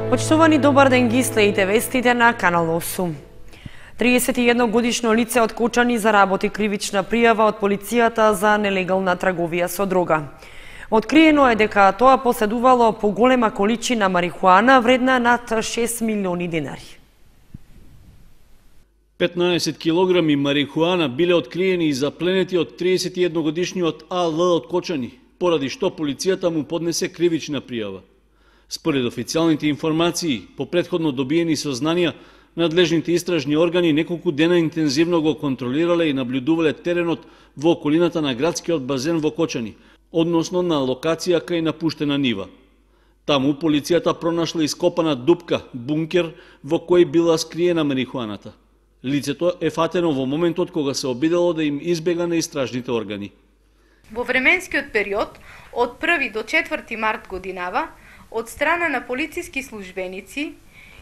Почитувани, добар ден, ги следите вестите на Канал 8. 31 годишно лице од Кочани заработи кривична пријава од полицијата за нелегална трговија со дрога. Откриено е дека тоа поседувало поголема количина марихуана вредна над 6 милиони денари. 15 килограми марихуана биле откриени и запленети од 31 годишниот АЛ од Кочани, поради што полицијата му поднесе кривична пријава. Според официјалните информации, по претходно добиени сознанија, надлежните истражни органи неколку дена интензивно го контролирале и наблюдувале теренот во околината на градскиот базен во Кочани, односно на локација кај напуштена нива. Таму полицијата пронашла ископана дупка, бункер, во кој била скриена марихуаната. Лицето е фатено во моментот кога се обидело да им избега на истражните органи. Во временскиот период, од 1 до 4 март годинава, од страна на полициски службеници,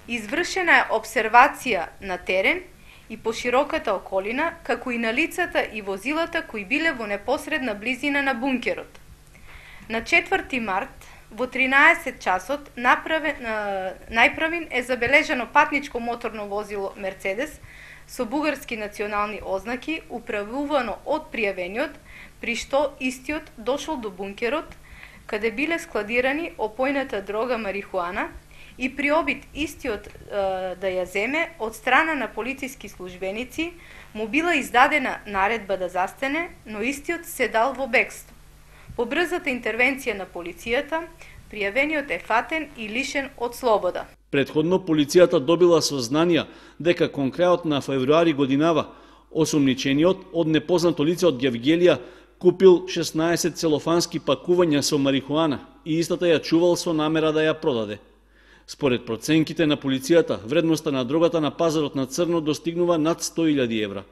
извршена е обсервација на терен и по широката околина, како и на лицата и возилата кои биле во непосредна близина на бункерот. На 4 март, во 13 часот, најправин е забележано патничко моторно возило Мерцедес со бугарски национални ознаки, управувано од пријавениот, при што истиот дошол до бункерот, каде биле складирани опојната дрога марихуана, и при обид истиот да ја земе од страна на полициски службеници, му била издадена наредба да застане, но истиот се дал во бегство. По брзата интервенција на полицијата, пријавениот е фатен и лишен од слобода. Претходно полицијата добила сознанија дека кон крајот на февруари годинава осумничениот од непознато лице од Гевгелија купил 16 целофански пакувања со марихуана и истата ја чувал со намера да ја продаде. Според проценките на полицијата, вредноста на дрогата на пазарот на црно достигнува над 100.000 евра.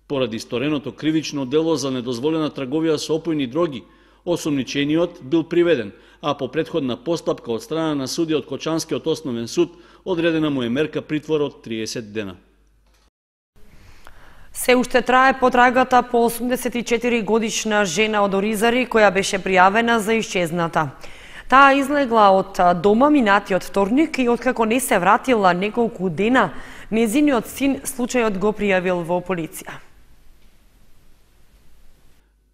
Поради стореното кривично дело за недозволена трговија со опојни дроги, осумничениот бил приведен, а по претходна постапка од страна на судија од Кочанскиот основен суд, одредена му е мерка притвор од 30 дена. Се уште трае потрагата по 84 годишна жена од Оризари која беше пријавена за исчезната. Таа излегла од дома минатиот вторник и откако не се вратила неколку дена, незиниот син случајот го пријавил во полиција.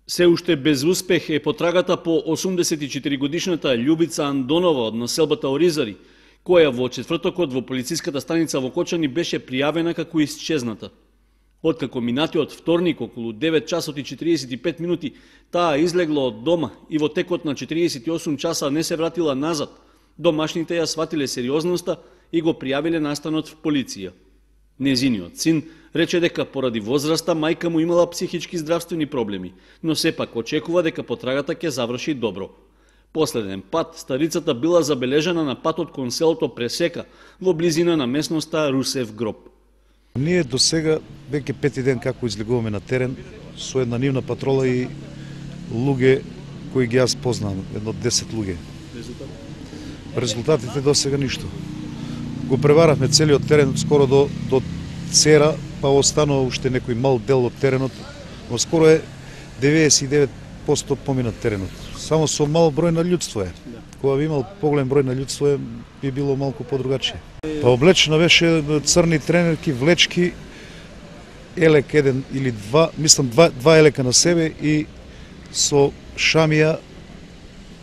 Се уште без успех е потрагата по 84 годишната Љубица Андонова од населбата Оризари, која во четвртокот во полициската станица во Кочани беше пријавена како исчезната. Откако минатиот вторник околу 9 часот и 45 минути таа излегла од дома и во текот на 48 часа не се вратила назад, домашните ја сватиле сериозноста и го пријавиле настанот в полиција. Незиниот син рече дека поради возраста мајка му имала психички здравствени проблеми, но сепак очекува дека потрагата ќе заврши добро. Последен пат старицата била забележана на патот кон селото Пресека во близина на местноста Русев гроб. Ние до сега веќе 5 ден како излегуваме на терен со една нивна патрола и луѓе кои ги јас познавам, едно 10 луѓе. Резултатите до сега ништо. Го преваравме целиот терен скоро до Цера, па останува уште некој мал дел од теренот, но скоро е 99% поминат теренот. Само со мал број на луѓето е. Кога би имал поголем број на луѓето би било малку подругачие. Па облечена беше црни тренерки, влечки, елек еден или два, мислам два елека на себе и со шамија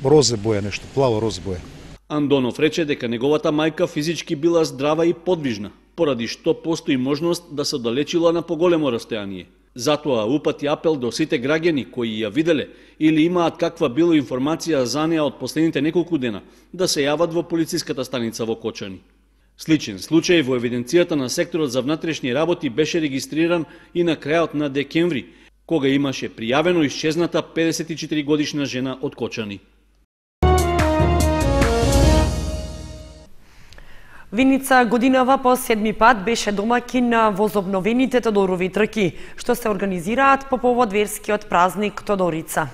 розе боја нешто, плаво розе боја. Андонов рече дека неговата мајка физички била здрава и подвижна, поради што постои можност да се оддалечила на поголемо растојание. Затоа упати апел до сите граѓани кои ја виделе или имаат каква било информација за неа од последните неколку дена да се јават во полициската станица во Кочани. Сличен случај во евиденцијата на секторот за внатрешни работи беше регистриран и на крајот на декември, кога имаше пријавено исчезната 54 годишна жена од Кочани. Виница годинава по 7 пат беше домаќин на возобновените Тодорови трки, што се организираат по повод верскиот празник Тодорица.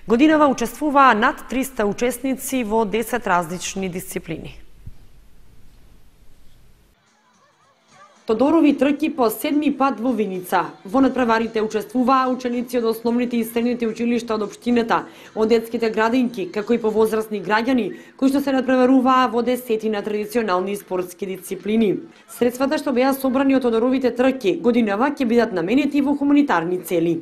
Годинава учествуваа над 300 учесници во 10 различни дисциплини. Тодорови трки по 7-ми пат во Виница. Во надпреварите учествуваа ученици од основните и средните училишта од општината, од детските градинки, како и повозрасни граѓани, кои што се надпреваруваа во 10 на традиционални спортски дисциплини. Средствата што беа собрани од Тодоровите трки годинава ќе бидат наменети во хуманитарни цели.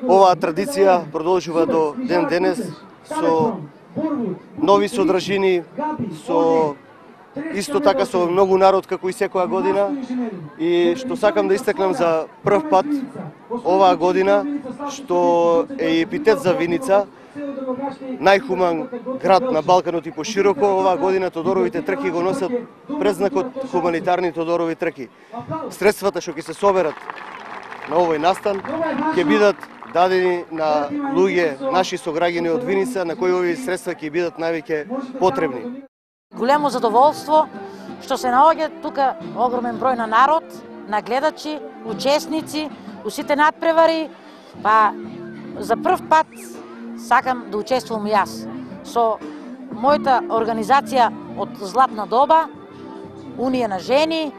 Оваа традиција продолжува до ден денес со нови содржини, со исто така со многу народ како и секоја година, и што сакам да истакнам за прв пат оваа година, што е епитет за Виница, најхуман град на Балканот и пошироко. Оваа година Тодоровите трки го носат презнакот хуманитарни Тодорови трки. Средствата што ќе се соберат на овој настан ќе бидат дадени на луѓе, наши сограѓани од Виница, на кои овие средства ќе бидат највеќе потребни. Големо задоволство што се наоѓа тука огромен број на народ, на гледачи, учесници, у сите надпревари, па за прв пат сакам да учествувам и јас со мојата организација од Златна доба, Унија на жени,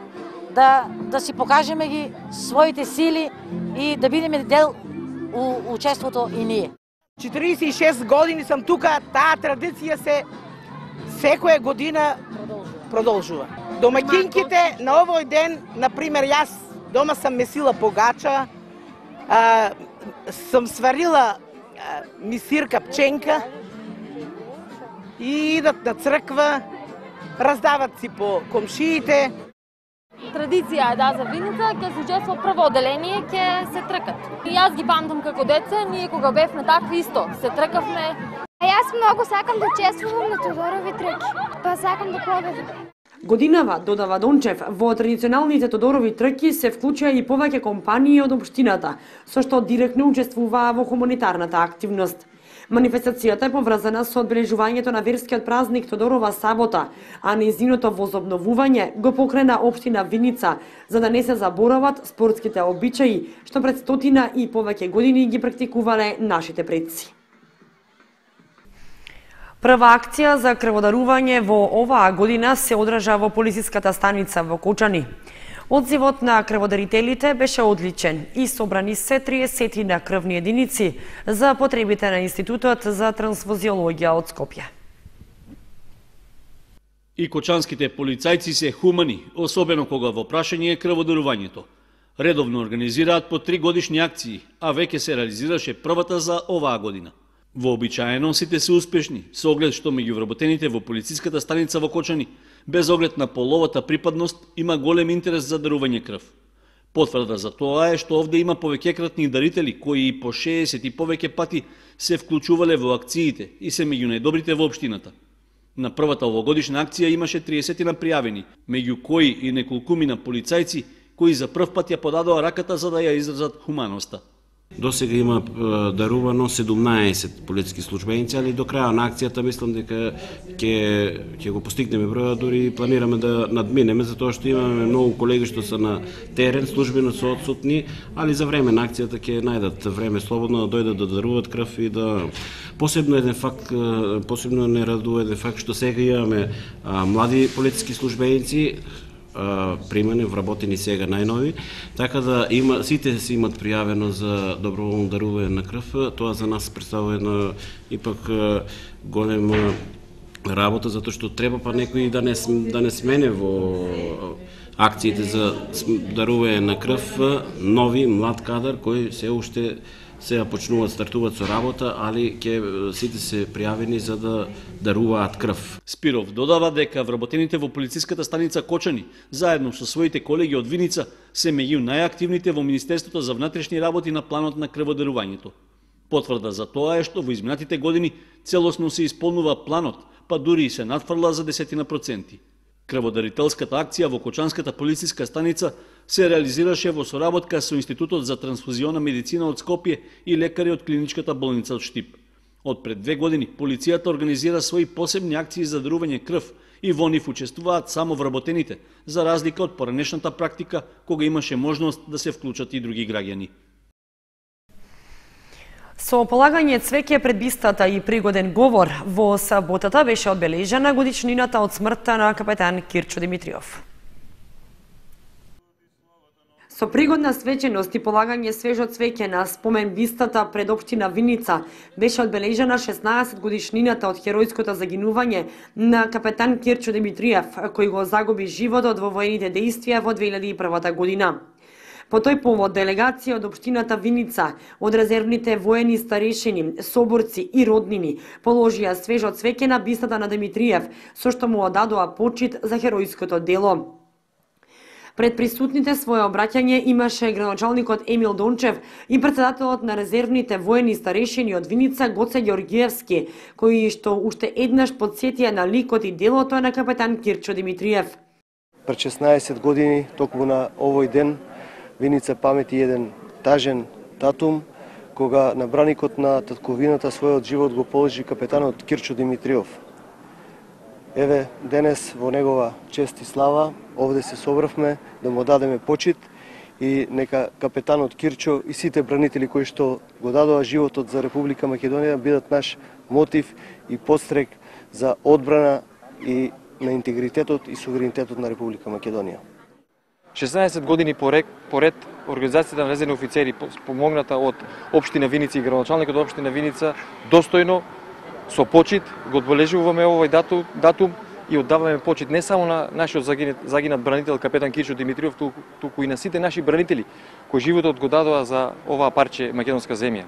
да си покажеме ги своите сили и да бидеме дел у учеството и ние. 46 години сам тука, таа традиција се секоја година продолжува. Домаќинките на овој ден, например, јас дома сам месила погача, сам сварила мисирка пченка и идат на црква, раздават си по комшиите. Традиција е да за Виница ќе се учества прво одделение, ќе се тркат. И јас ги памтам како деце, ние кога бевме такви исто, се тркавме. А јас многу сакам да учествувам на Тодорови трки, па сакам да победам. Годинава, додава Дончев, во традиционалните Тодорови трки се вклучија и повеќе компании од општината, со што директно учествуваа во хуманитарната активност. Манифестацијата е поврзана со одбележувањето на верскиот празник Тодорова сабота, а нејзиното возобновување го покрена општина Виница, за да не се заборават спортските обичаи, што пред 100 и повеќе години ги практикувале нашите предци. Прва акција за крводарување во оваа година се одржа во полициската станица во Кочани. Одзивот на крводарителите беше одличен и собрани се 30 на крвни единици за потребите на Институтот за трансфузиологија од Скопје. И кочанските полицајци се хумани, особено кога во прашање е крводарувањето. Редовно организираат по 3 годишни акции, а веќе се реализираше првата за оваа година. Вообичаено сите се успешни, со оглед што меѓу вработените во полициската станица во Кочани, без оглед на половата припадност, има голем интерес за дарување крв. Потврда за тоа е што овде има повеќекратни дарители кои и по 60 и повеќе пати се вклучувале во акциите и се меѓу најдобрите во општината. На првата овогодишна акција имаше 30 на пријавени, меѓу кои и неколкумина полицајци кои за прв пат ја подадоа раката за да ја изразат хуманоста. До сега има дарувано 17 полициски службеници, али до краја на акцијата мислам дека ќе го постигнеме бројот, дури планираме да надминеме, затоа што имаме многу колеги што се на терен, службено се отсутни, али за време на акцијата ќе најдат време слободно да дојдат да даруват крв и да... Посебно не радува еден факт што сега имаме млади полициски службеници, примени, вработени сега најнови, така да сите си имат пријавено за доброволно дарување на крв. Тоа за нас представува една ипак голема работа, затоа што треба па некој да не смене во акциите за дарување на крв нови млад кадар кој се уште сега стартуваат со работа, али сите се пријавени за да даруваат крв. Спиров додава дека вработените во полициската станица Кочани, заедно со своите колеги од Виница, се меѓу најактивните во Министерството за внатрешни работи на планот на крводарувањето. Потврда за тоа е што во изминатите години целосно се исполнува планот, па дури и се надфрла за 10%. Крводарителската акција во Кочанската полициска станица се реализираше во соработка со Институтот за трансфузиона медицина од Скопје и лекари од клиничката болница од Штип. Од пред 2 години полицијата организира своји посебни акции за дарување крв и во нив учествуваат само вработените, за разлика од поранешната практика кога имаше можност да се вклучат и други граѓани. Со полагање цвеќе пред бистата и пригоден говор, во саботата беше одбележена годишнината од смртта на капетан Кирчо Димитриов. Со пригодна свеченост и полагање свежо цвеќе на спомен бистата пред општина Виница беше одбележена 16 годишнината од херојското загинување на капетан Кирчо Димитриев, кој го загуби животот во воените дејствија во 2001 година. По тој повод делегација од општината Виница, од резервните воени старешини, соборци и роднини положија свежо цвеќе на бистата на Димитриев, со што му одадоа почит за херојското дело. Пред присутните свое обраќање имаше градоначалникот Емил Дончев и председателот на резервните воени старешини од Виница Гоце Ѓоргиевски, кои што уште еднаш подсетија на ликот и делото на капетан Кирчо Димитриев. Пред 16 години, токму на овој ден, Виница памети еден тажен датум, кога на браникот на татковината својот живот го положи капетанот Кирчо Димитриев. Еве, денес во негова чест и слава, овде се собравме да му дадеме почит и нека капетанот Кирчо и сите бранители кои што го дадоа животот за Република Македонија бидат наш мотив и подстрек за одбрана и на интегритетот и суверенитетот на Република Македонија. 16 години поред Организацијата на резервни офицери, помогната од општина Виница и градоначалникот од општина Виница, достојно со почит го одбележуваме овој датум и оддаваме почит не само на нашиот загинат бранител капетан Кирчо Димитриев, туку и на сите наши бранители кои животот го дадоа за оваа парче македонска земја.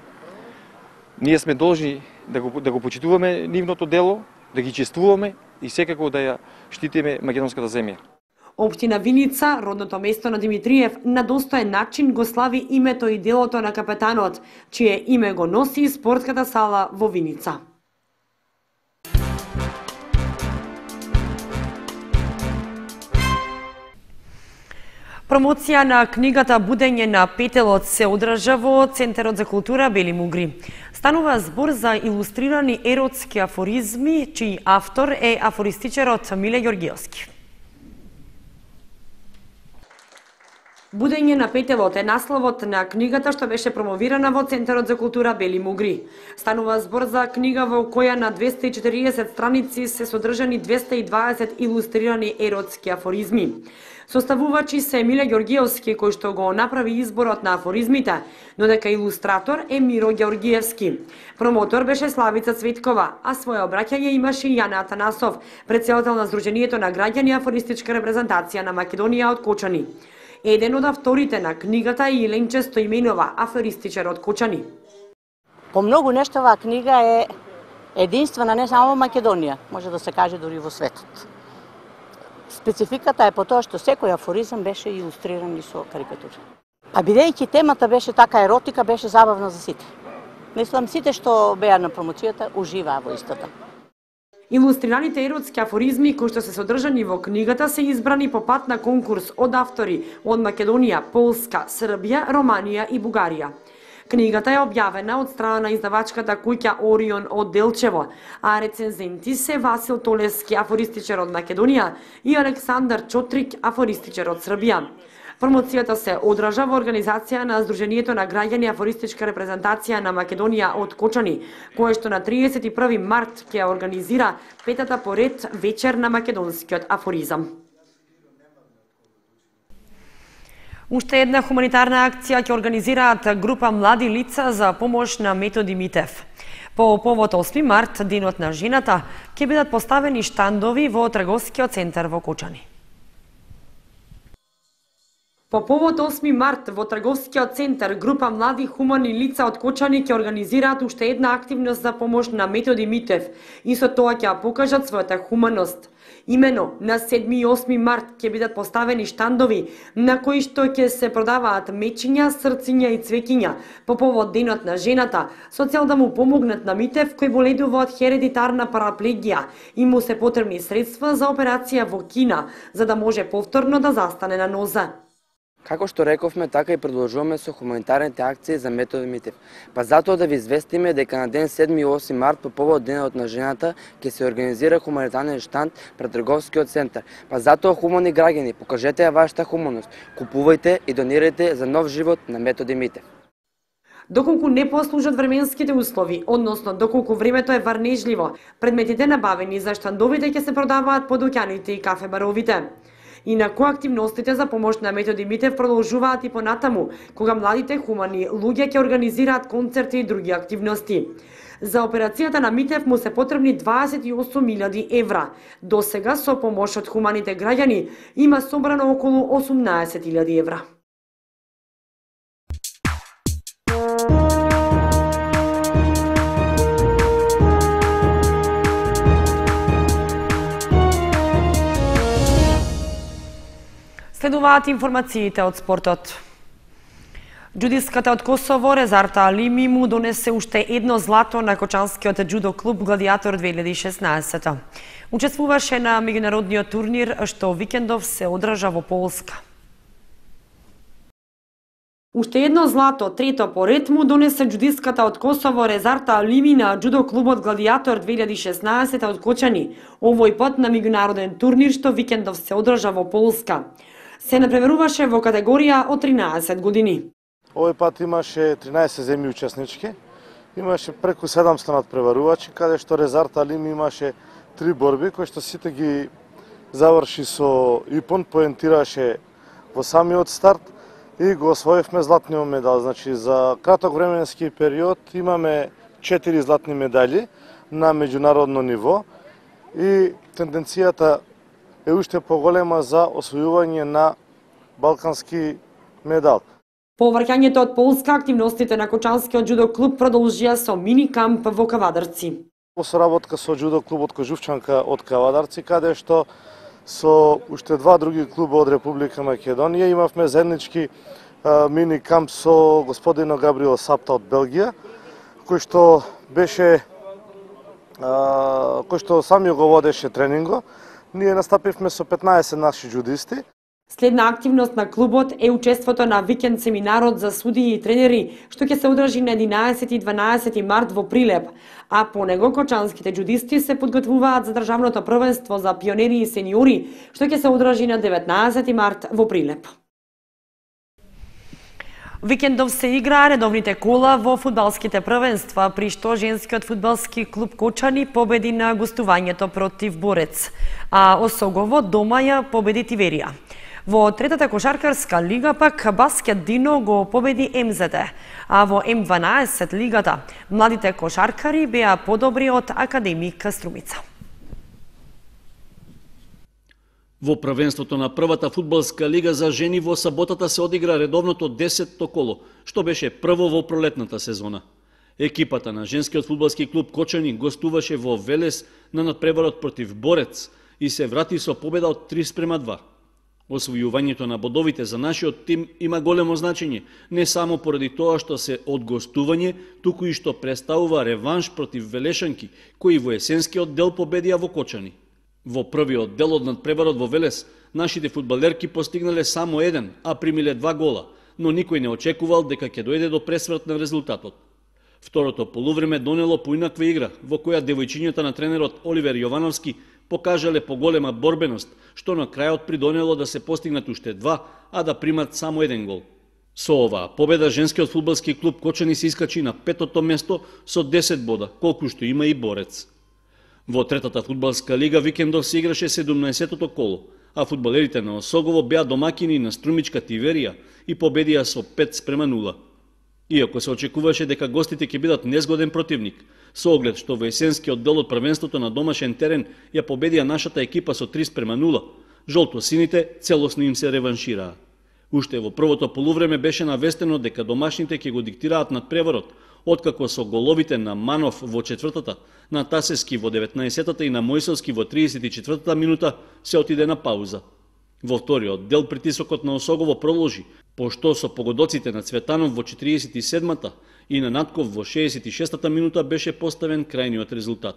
Ние сме должни да го почитуваме нивното дело, да ги чествуваме и секако да ја штитиме македонската земја. Општина Виница, родното место на Димитриев, на достоен начин го слави името и делото на капетанот, чие име го носи спортската сала во Виница. Промоција на книгата Будење на петелот се одржа во Центарот за култура Бели Мугри. Станува збор за илустрирани еротски афоризми, чиј автор е афористичарот Миле Ѓоргиевски. Будење на петелот е насловот на книгата што беше промовирана во Центарот за култура Бели Мугри. Станува збор за книга во која на 240 страници се содржани 220 илустрирани еротски афоризми. Составувачи се Миле Ѓоргиевски, кој што го направи изборот на афоризмите, но дека илустратор е Миро Ѓоргиевски. Промотор беше Славица Цветкова, а своје обраќање имаше Јана Атанасов, претседател на Сдруженијето на граѓани афористичка репрезентација на Македонија од Кочани. Еден од авторите на книгата е Иленче Стоименова, афористичар од Кочани. По многу нешто оваа книга е единствена не само во Македонија, може да се каже дури во светот. Спецификата е по тоа што секој афоризам беше илустриран и со карикатури. А бидејќи темата беше така еротика, беше забавна за сите. Мислам, сите што беа на промоцијата уживаа во истата. Илустрираните еротски афоризми кои што се содржани во книгата се избрани по пат на конкурс од автори од Македонија, Полска, Србија, Романија и Бугарија. Книгата е објавена од страна на издавачката куќа Орион од Делчево, а рецензенти се Васил Толески, афористичар од Македонија, и Александар Чотрик, афористичар од Србија. Промоцијата се одржа во организација на Сдруженијето на граѓани афористичка репрезентација на Македонија од Кочани, кое што на 31 март ќе организира петата поред вечер на македонскиот афоризам. Уште една хуманитарна акција ќе организираат група млади лица за помош на Методи Митев. По повод 8 март, денот на жената, ќе бидат поставени штандови во трговскиот центар во Кочани. По повод 8 март во трговскиот центар група млади хумани лица од Кочани ќе организираат уште една активност за помош на Методи Митев и со тоа ќе покажат својата хуманост. Имено на 7 и 8 март ќе бидат поставени штандови на кои што ќе се продаваат мечиња, срциња и цвеќиња по повод денот на жената, со цел да му помогнат на Митев кој боледува од хередитарна параплегија и му се потребни средства за операција во Кина, за да може повторно да застане на нозе. Како што рековме, така и продолжуваме со хуманитарните акции за Методи Митев. Па затоа да ви известиме дека на ден 7 и 8 март по повод денот на жената ќе се организира хуманитарен штанд пред трговскиот центар. Па затоа, хумани граѓани, покажете ја вашата хуманост, купувајте и донирајте за нов живот на Методи Митев. Доколку не послужат временските услови, односно доколку времето е варнежливо, предметите набавени за штандовите ќе се продаваат по дуќаните и кафе-баровите. Инаку активностите за помош на Методи Митев продолжуваат и понатаму, кога младите хумани луѓе ќе организираат концерти и други активности. За операцијата на Митев му се потребни 28.000 евра. До сега со помош од хуманите граѓани има собрано околу 18.000 евра. Следуваат информациите од спортот. Џудистката од Косово Резарта Алими му донесе уште едно злато на кочанскиот џудо клуб Гладиатор 2016. Учествуваше на меѓународниот турнир што викендов се одржа во Полска. Уште едно злато, трето поред, му донесе џудистката од Косово Резарта Алими на џудо клубот Гладиатор 2016 од Кочани, овој пат на меѓународен турнир што викендов се одржа во Полска. Се напреверуваше во категорија од 13 години. Овој пат имаше 13 земји учеснички, имаше преку 700 надпреварувачи, каде што Резарта Алими имаше 3 борби, кои што сите ги заврши со ипон, поентираше во самиот старт и го освоивме златниот медал. Значи, за краток временски период имаме 4 златни медали на меѓународно ниво и тенденцијата е уште поголема за освојување на балкански медал. По враќањето од Полска, активностите на Кочанскиот џудо клуб продолжија со мини камп во Кавадарци. Во соработка со џудо клубот Кожувчанка од Кавадарци, каде што со уште два други клуба од Република Македонија имавме заеднички мини камп со господино Габриел Сапта од Белгија, кој што сами го водеше тренинго. Ние настапивме со 15 наши џудисти. Следна активност на клубот е учеството на викенд семинарот за судии и тренери, што ќе се одржи на 11 и 12 март во Прилеп, а по него кочанските џудисти се подготвуваат за државното првенство за пионери и сениори, што ќе се одржи на 19 март во Прилеп. Викендов се играа редовните кола во фудбалските првенства, при што женскиот фудбалски клуб Кочани победи на гостувањето против Борец, а Осогово дома ја победи Тиверија. Во третата кошаркарска лига пак Баскет Дино го победи МЗТ, а во М12 лигата младите кошаркари беа подобри од Академик Струмица. Во првенството на првата фудбалска лига за жени во саботата се одигра редовното 10-то коло, што беше прво во пролетната сезона. Екипата на женскиот фудбалски клуб Кочани гостуваше во Велес на надпреварот против Борец и се врати со победа од 3:2. Освојувањето на бодовите за нашиот тим има големо значење, не само поради тоа што се од гостување, туку и што представува реванш против велешанки, кои во есенскиот дел победија во Кочани. Во првиот дел од надпреварот во Велес, нашите фудбалерки постигнале само 1, а примиле 2 гола, но никој не очекувал дека ќе дојде до пресврт на резултатот. Второто полувреме донело поинаква игра, во која девојчињата на тренерот Оливер Јовановски покажале поголема борбеност, што на крајот придонело да се постигнат уште 2, а да примат само 1 гол. Со оваа победа женскиот фудбалски клуб Кочани се искачи на 5-то место со 10 бода, колку што има и Борец. Во третата фудбалска лига викендов се играше 17-то коло, а фудбалерите на Осогово беа домакини на струмичка Тиверија и победија со 5:0. Иако се очекуваше дека гостите ќе бидат незгоден противник, со оглед што во есенскиот дел од првенството на домашен терен ја победија нашата екипа со 3:0, жолто-сините целосно им се реваншираа. Уште во првото полувреме беше навестено дека домашните ќе го диктираат надпреварот, откако со головите на Манов во четвртата, на Тасески во 19-та и на Мојсовски во 34-та минута се отиде на пауза. Во вториот дел притисокот на Осогово продолжи, пошто со погодоците на Цветанов во 47-та и на Натков во 66-та минута беше поставен крајниот резултат.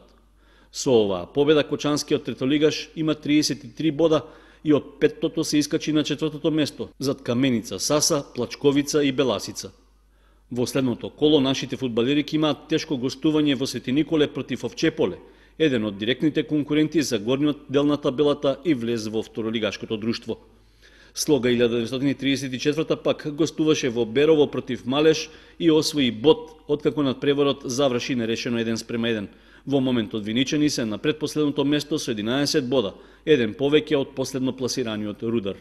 Со оваа победа кочанскиот третолигаш има 33 бода и од петтото се искачи на четвртото место, зад Каменица, Саса, Плачковица и Беласица. Во следното коло нашите фудбалерики имаат тешко гостување во Свети Николе против Овчеполе, еден од директните конкуренти за горниот дел на табелата и влез во второлигашкото друштво. Слога 1934 пак гостуваше во Берово против Малеш и освои бод, откако надпреварот заврши нерешено 1:1. Во моментот виничани се на предпоследното место со 11 бода, еден повеќе од последно пласираниот Рудар.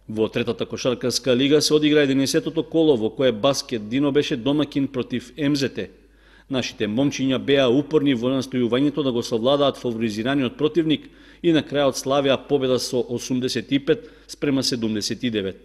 Во третата кошаркарска лига се одигра 11-тото коло во кое Баскет Дино беше домакин против МЗТ. Нашите момчиња беа упорни во настојувањето да го совладаат фаворизираниот противник и на крајот славија победа со 85 спрема 79.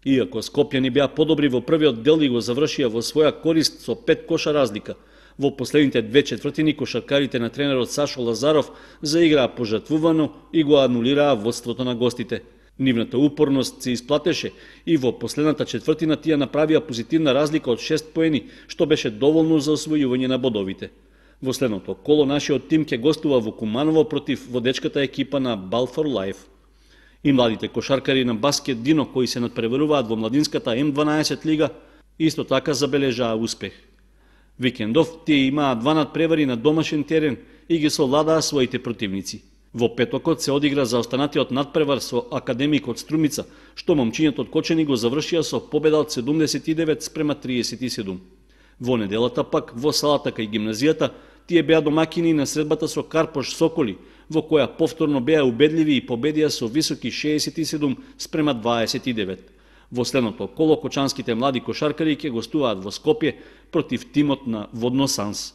Иако скопјани беа подобри во првиот дел и го завршија во своја корист со 5 коша разлика, во последните 2 четвртини кошаркарите на тренерот Сашо Лазаров заиграа пожртвувано и го анулираа водството на гостите. Нивната упорност се исплатеше и во последната четвртина тие направија позитивна разлика од 6 поени, што беше доволно за освојување на бодовите. Во следното коло нашиот тим ќе гостува во Куманово против водечката екипа на Ball for Life. И младите кошаркари на Баскет Дино, кои се надпреваруваат во младинската М12 лига, исто така забележаа успех. Викендов тие имаа 2 надпревари на домашен терен и ги совладаа своите противници. Во петокот се одигра за останатиот надпревар со Академик од Струмица, што момчињата од Кочани го завршија со победа од 79 спрема 37. Во неделата пак, во салата кај гимназијата, тие беа домакини на средбата со Карпош Соколи, во која повторно беа убедливи и победија со високи 67 спрема 29. Во следното коло кочанските млади кошаркари ќе гостуваат во Скопје против тимот на Водно Санс.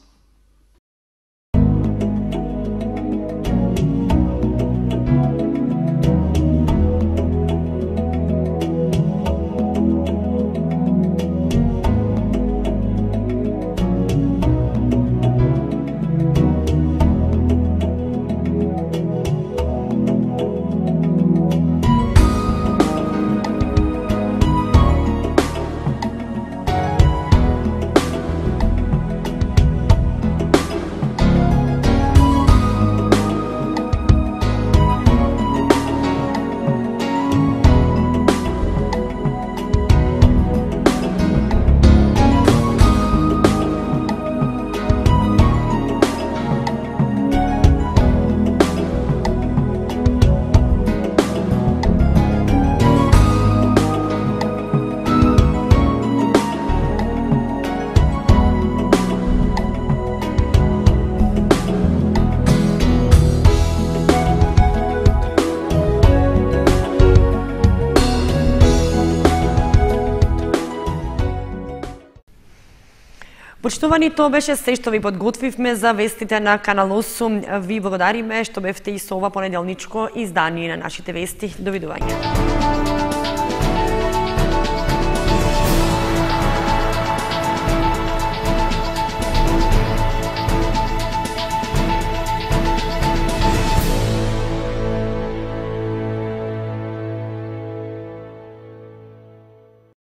Почитувани, тоа беше се што ви подготвивме за вестите на Канал 8. Ви благодариме што бевте и со ова понеделничко издание на нашите вести. Довидување.